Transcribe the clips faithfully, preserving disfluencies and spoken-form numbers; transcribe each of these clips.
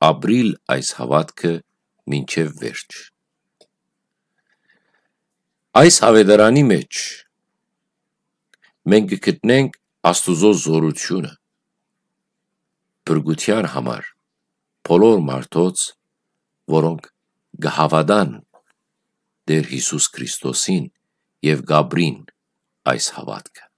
ապրիլ այս հաւատքը մինչեւ վերջ։ Այս աւետարանի մէջ մենք կը գտնենք Աստուծոյ զօրութիւնը փրկութեան համար բոլոր մարդոց, որոնք կը հաւատան Տէր Յիսուս Քրիստոսին եւ կ'ապրին այս հաւատքը։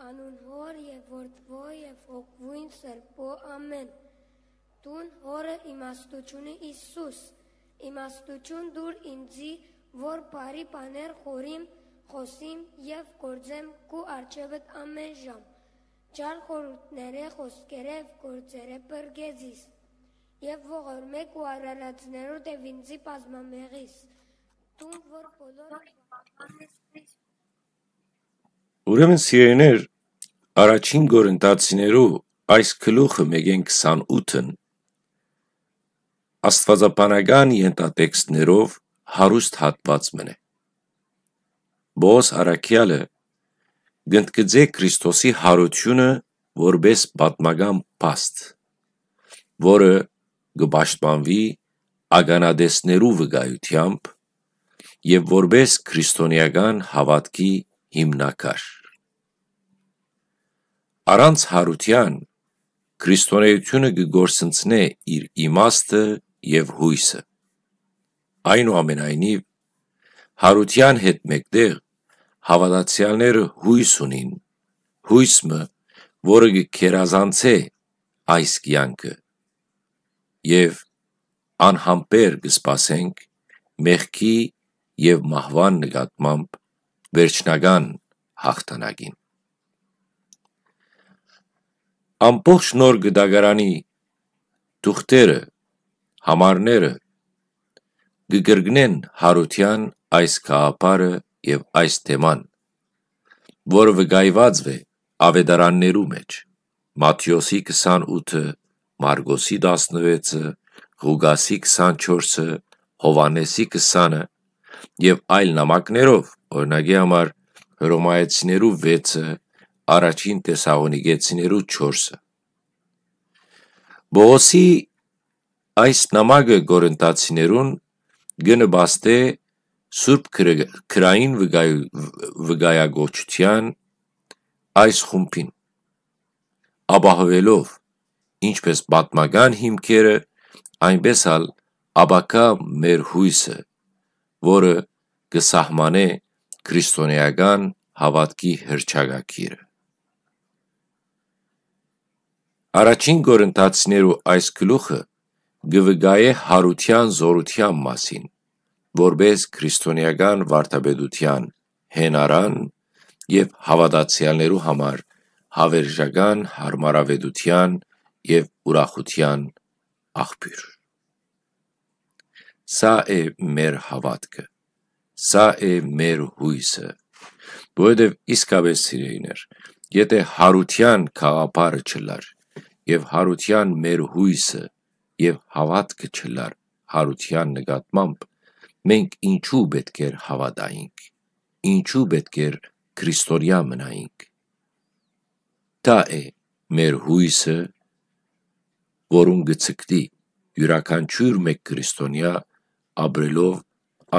Անուն Հօր եւ Որդւոյ եւ Հոգւոյն Սրբոյ, ամէն։ Դուն Հօրը իմաստութիւնը, Յիսուս, իմաստութիւն տուր ինծի, որ բարի բաներ խորհիմ, խօսիմ եւ գործեմ քու առջեւդ ամէն ժամ։ Չար խորհուրդներէ, խօսքերէ եւ գործերէ փրկէ զիս, եւ ողորմէ քու արարածներուդ եւ ինծի բազմամեղիս, դուն որ բոլոր Ուրեմն, սիրելիներ, առաջին Կորինթացիներու այս գլուխը մէկէն քսանութն աստուածաբանական ենթատեքստներով հարուստ հատուած մըն է։ Պողոս առաքեալը կ'ընդգծէ Քրիստոսի յարութիւնը որպէս պատմական փաստ, որը կը պաշտպանուի ականատեսներու վկայութեամբ եւ որպէս քրիստոնեական հաւատքի հիմնաքար։ Առանց յարութեան քրիստոնէութիւնը կը կորսնցնէ իր իմաստը եւ յոյսը։ Այնուամենայնիւ, յարութեան հետ մէկտեղ հաւատացեալները յոյս ունին, յոյս մը, որը կը գերազանցէ այս կեանքը, եւ անհամբեր կը սպասենք մեղքի եւ մահուան նկատմամբ վերջնական յաղթանակին։ Ամբողջ Նոր Կտակարանի թուղթերը, համարները կը կրկնեն յարութեան այս գաղափարը եւ այս թեման, որը վկայուած է աւետարաններու մէջ, Մատթէոսի քսանութը, Մարկոսի տասնվեցը, Ղուկասի քսանչորսը, Յովհաննէսի քսանը եւ այլ նամակներով, օրինակի համար, Հռոմայեցիներու վեցը, առաջին Թեսաղոնիկեցիներու չորսը։ Պողոսի այս նամակը Կորինթացիներուն կը նպաստէ Սուրբ Գրը-, Գրային վկայ-, վկայակոչութեան այս խումբին, ապահովելով ինչպէս պատմական հիմքերը, այնպէս ալ ապագայ մեր յոյսը, որը կը սահմանէ քրիստոնէական հաւատքի հռչակագիրը։ Առաջին Կորինթացիներու այս գլուխը կը վկայէ յարութեան զօրութեան մասին, որպէս քրիստոնեական վարդապետութեան յենարան եւ հաւատացեալներու համար հաւերժական յարմարաւէտութեան եւ ուրախութեան աղբիւր։ Սա է մեր հաւատքը, սա է մեր յոյսը, որովհետեւ իսկապէս, սիրելիներ, եթէ յարութեան գաղափարը չըլլար եւ յարութեան մեր յոյսը եւ հաւատքը չըլլար յարութեան նկատմամբ, մենք ինչու պէտք էր հաւատայինք, ինչու պէտք էր քրիստոնեայ մնայինք։ Դա է մեր յոյսը, որուն կը ցկտի իւրաքանչիւր մէկ քրիստոնեայ, ապրելով